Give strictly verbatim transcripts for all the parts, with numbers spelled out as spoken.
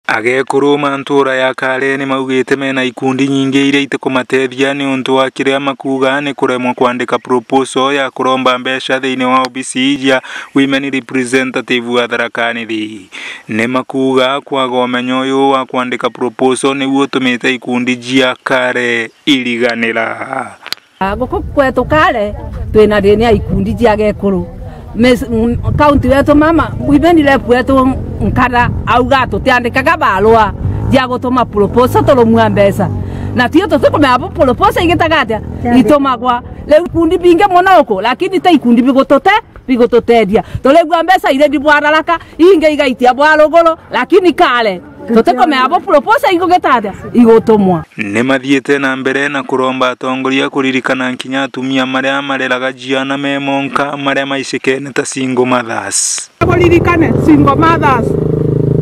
Agekuru ma ntuura ya Kare ni maugite mena ikundi nyingi iria itikumatethia niuntu wa kiria makuuga ni kuremwa kwandika proposal ya kuromba mbeca thiini wa obisi cia Women Representative wa Tharaka Nithi. Ni makuuga kwaga umenyo uyu wa kwandika proposal niu utumite ikundi cia Kare iriganira. Ah, guku kwetu Kare, twina thina ya ikundi cia gekuru. Miss, mm, county wetu mama, women rep wetu Nkara, auga tutiandikaga barua cia gutuma proposal turumua mbeca. Na tio tutikumenya bo proposal igitaga atia? Itumagwa. Riu ikundi bingi mono uku, lakini ti ikundi bigutute-, bigututethia. Turigua mbeca iri bwa raraka, ingi igaitia bwa ruguru, lakini Kare, tutikumenya bo proposal igugita atia? Igutumwa. Ni mathiite na mbere na kuromba atongoria kuririkana kinya atumia maria mareraga ciana me monka maria maicikene ta single mothers. Kuririkane single mothers.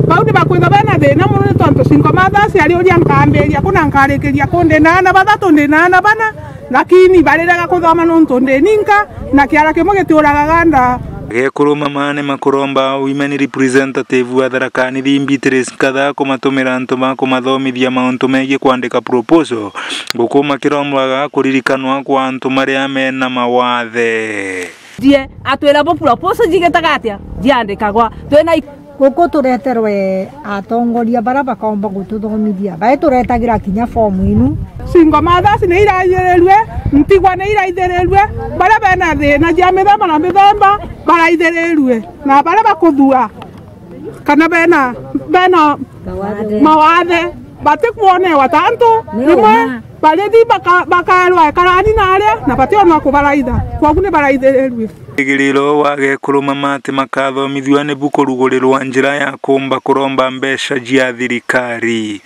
Bau ni bakwithwa bena thina mono ni tontu single mothers ari uria nkambiria kuna nkarikiria ku ndi na aana bathatu, ndi na aana bana, lakini barirega kuthoma nontu ndi ninka, na kiara kimwe gitiuraga ganda. Agekuru mama ni makuromba Women Representative wa Tharaka Nithi Beatrice Nkatha kumatumira antu ba kumathomithia mauntu megii kwandika proposal, guku makirombaga kuririkanwa kwa antu maria mena mawathe. Thie atwira bo proposal jigitaga atia? Jiandikagwa. Twina i- Guku tureterwe atongoria baria bakaomba gututhomithia. Bae turetagira kinya fomu inu. Single mothers ni iraithirirue, ntigwa ni iraithirirue, baria bena thina cia mithemba na mithemba baraithirirue, na baria bakuthua kana bena, bena mawathe batikwonewa ta antu. Ni rimwe uma. Barithi baka-, bakaerwa ekarani na aria, na bationwa kubaraitha. Kwogu ni baraithirirue. Wigiriro wa gekuru mama ati makathomithua nibu kurugurirwa njira ya kuumba kuromba mbeca cia thirikari.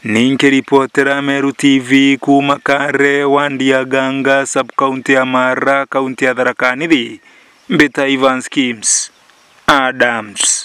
Ninki ripotera Meru T V kuuma Kare, wandi ya Ganga, sub-county ya Mara, kaunti ya Tharaka Nithi, mbita Evans Kims Adams.